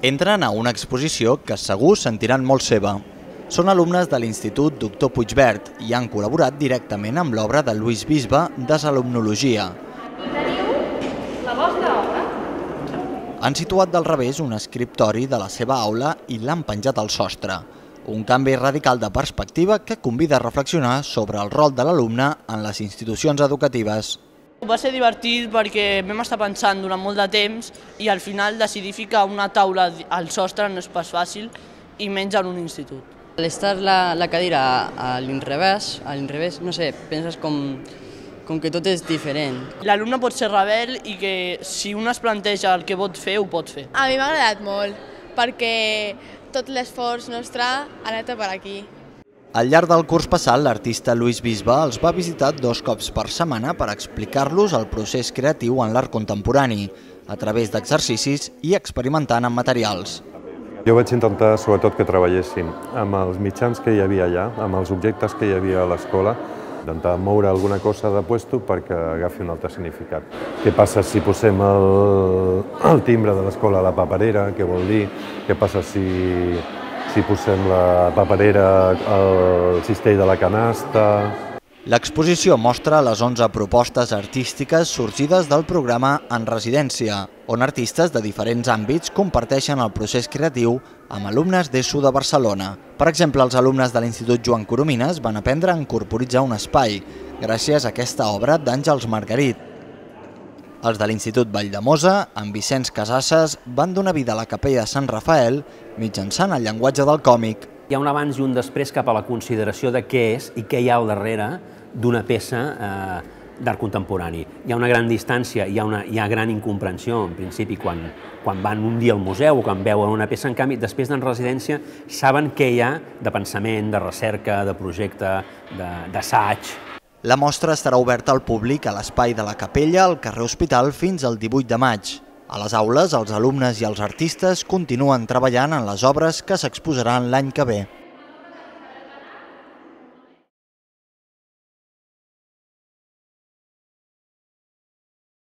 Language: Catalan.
Entren a una exposició que segur sentiran molt seva. Són alumnes de l'Institut Doctor Puigvert i han col·laborat directament amb l'obra de Lluís Bisbe, Desalumnologia. Teniu la vostra obra? Han situat del revés un escriptori de la seva aula i l'han penjat al sostre. Un canvi radical de perspectiva que convida a reflexionar sobre el rol de l'alumne en les institucions educatives. Va ser divertit perquè vam estar pensant durant molt de temps i al final decidir ficar una taula al sostre no és pas fàcil i menys en un institut. Al estar la cadira a l'inrevés, no sé, penses com que tot és diferent. L'alumne pot ser rebel i que si un es planteja el que pot fer, ho pot fer. A mi m'ha agradat molt perquè tot l'esforç nostre ha anat per aquí. Al llarg del curs passat, l'artista Lluís Bisbe els va visitar 2 cops per setmana per explicar-los el procés creatiu en l'art contemporani, a través d'exercicis i experimentant amb materials. Jo vaig intentar, sobretot, que treballessin amb els mitjans que hi havia allà, amb els objectes que hi havia a l'escola, intentar moure alguna cosa de puesto perquè agafi un altre significat. Què passa si posem el timbre de l'escola a la paperera? Què vol dir? Què passa si posem la paperera al cistell de la canasta? L'exposició mostra les 11 propostes artístiques sorgides del programa En Residència, on artistes de diferents àmbits comparteixen el procés creatiu amb alumnes d'ESO de Barcelona. Per exemple, els alumnes de l'Institut Joan Coromines van aprendre a incorporitzar un espai, gràcies a aquesta obra d'Àngels Margarit. Els de l'Institut Valldemosa, amb Vicenç Casasses, van donar vida a la capella de Sant Rafael mitjançant el llenguatge del còmic. Hi ha un abans i un després cap a la consideració de què és i què hi ha al darrere d'una peça d'art contemporani. Hi ha una gran distància, hi ha gran incomprensió, en principi, quan van un dia al museu o quan veuen una peça. En canvi, després d'en residència, saben què hi ha de pensament, de recerca, de projecte, d'assaig. La mostra estarà oberta al públic a l'espai de la Capella al carrer Hospital fins al 18 de maig. A les aules, els alumnes i els artistes continuen treballant en les obres que s'exposaran l'any que ve.